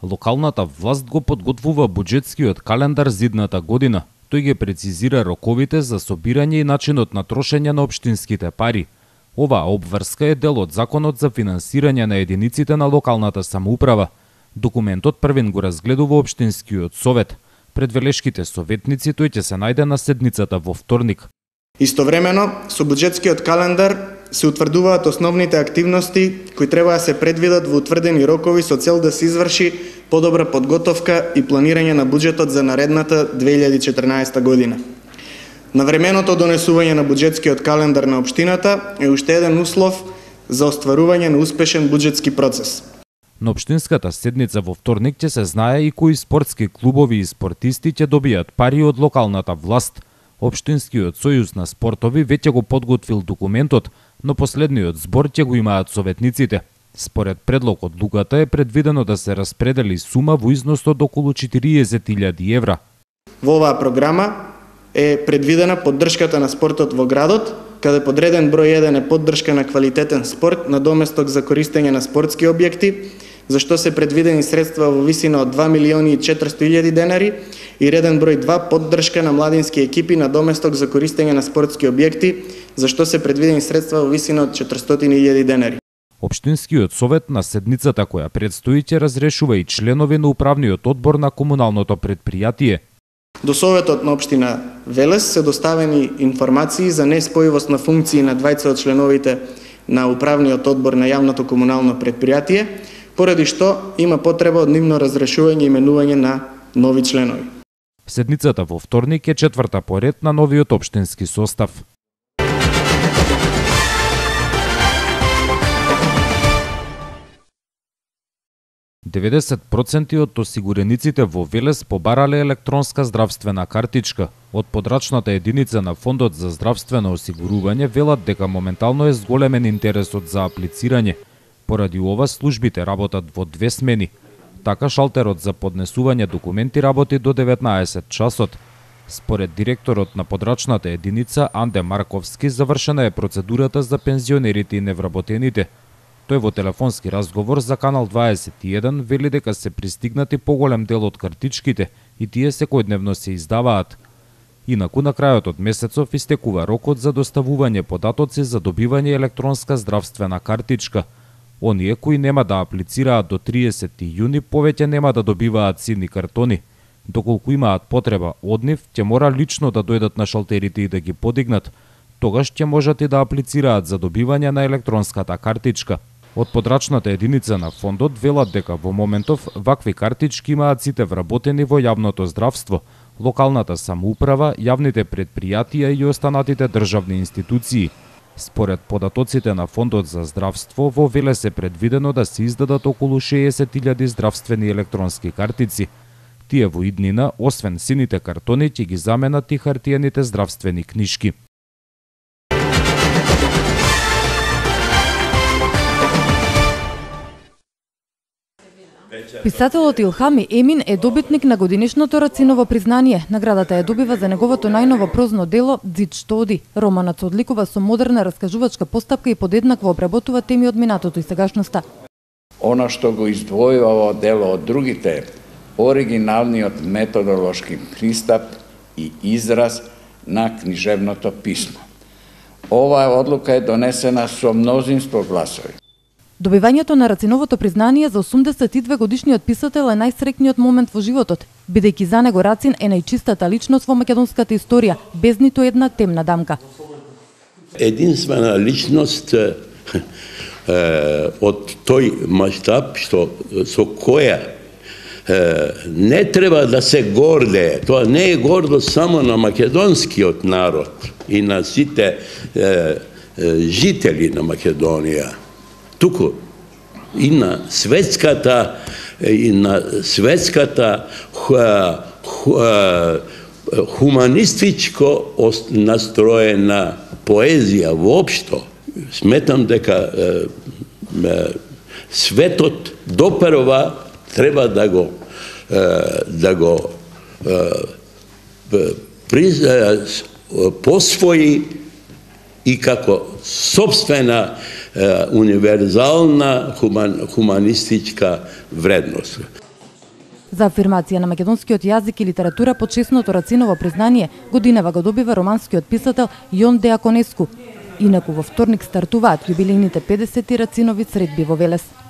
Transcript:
Локалната власт го подготвува буџетскиот календар за идната година. Тој ги прецизира роковите за собирање и начинот на трошење на општинските пари. Оваа обврска е дел од Законот за финансирање на единиците на локалната самоуправа. Документот првен го разгледува општинскиот совет. Пред велешките советници тој ќе се најде на седницата во вторник. Истовремено, со буџетскиот календар се утврдуваат основните активности кои треба да се предвидат во утврдени рокови со цел да се изврши подобра подготовка и планирање на буџетот за наредната 2014 година. Навременото донесување на буџетскиот календар на општината е уште еден услов за остварување на успешен буџетски процес. На општинската седница во вторник ќе се знае и кои спортски клубови и спортисти ќе добијат пари од локалната власт. Општинскиот сојуз на спортови веќе го подготвил документот, но последниот збор ќе го имаат советниците. Според предлог одлуката е предвидено да се распредели сума во износ од околу 40.000 евра. Во оваа програма е предвидена поддршката на спортот во градот, каде подреден број 1 е поддршка на квалитетен спорт на доместок за користење на спортски објекти, за што се предвидени средства во висина од 2.400.000 денари и реден број 2 поддршка на младински екипи на доместок за користење на спортски објекти, за што се предвидени средства во висина од 400.000 денари. Општинскиот совет на седницата која предстои ќе разрешува и членови на управниот одбор на комуналното предпријатие. До Советот на општина Велес се доставени информации за неспојивост на функции на двајца од членовите на управниот одбор на јавното комунално предпријатие, поради што има потреба од нивно разрешување и именување на нови членови. Седницата во вторник е четврта по ред на новиот општински состав. % од осигурениците во Велес побарале електронска здравствена картичка. Од подрачната единица на Фондот за здравствено осигурување велат дека моментално е зголемен интересот за аплицирање. Поради ова службите работат во 2 смени. Така шалтерот за поднесување документи работи до 19 часот. Според директорот на подрачната единица Анде Марковски завршена е процедурата за пензионерите и невработените. Тој во телефонски разговор за Канал 21 вели дека се пристигнати поголем дел од картичките и тие секојдневно се издаваат. Инаку на крајот од месецов истекува рокот за доставување податоци за добивање електронска здравствена картичка. Оние кои нема да аплицираат до 30 јуни повеќе нема да добиваат сини картони. Доколку имаат потреба од нив, ќе мора лично да дојдат на шалтерите и да ги подигнат. Тогаш ќе можат и да аплицираат за добивање на електронската картичка. Од подрачната единица на фондот велат дека во моментов вакви картички имаат сите вработени во јавното здравство, локалната самоуправа, јавните предпријатија и останатите државни институции. Според податоците на Фондот за здравство, во Велес е предвидено да се издадат околу 60.000 здравствени електронски картици. Тие во иднина, освен сините картони, ќе ги заменат и хартиените здравствени книшки. Писателот Илхами Емин е добитник на годинишното Рациново признание. Наградата ја добива за неговото најново прозно дело "Дзид што оди". Романот се одликува со модерна раскажувачка постапка и подеднакво обработува теми од минатото и сегашноста. Она што го издвојува ово дело од другите, оригиналниот методолошки пристап и израз на книжевното писмо. Оваа одлука е донесена со мнозинство гласови. Добивањето на Рациновото признание за 82 годишниот писател е најсрекниот момент во животот, бидејќи за него Рацин е најчистата личност во македонската историја, без ниту една темна дамка. Единствена личност од тој маштаб со која не треба да се гордее. Тоа не е гордост само на македонскиот народ и на сите жители на Македонија, туку и на светската хуманистичко настроена поезија воопшто. Сметам дека светот допрва треба да го посвои и како собствена универзална хуманистичка вредност. За афирмација на македонскиот јазик и литература почесното Рациново признание годинава го добива романскиот писател Јон Деаконеску. Инаку во вторник стартуваат јубилејните 50 Рацинови средби во Велес.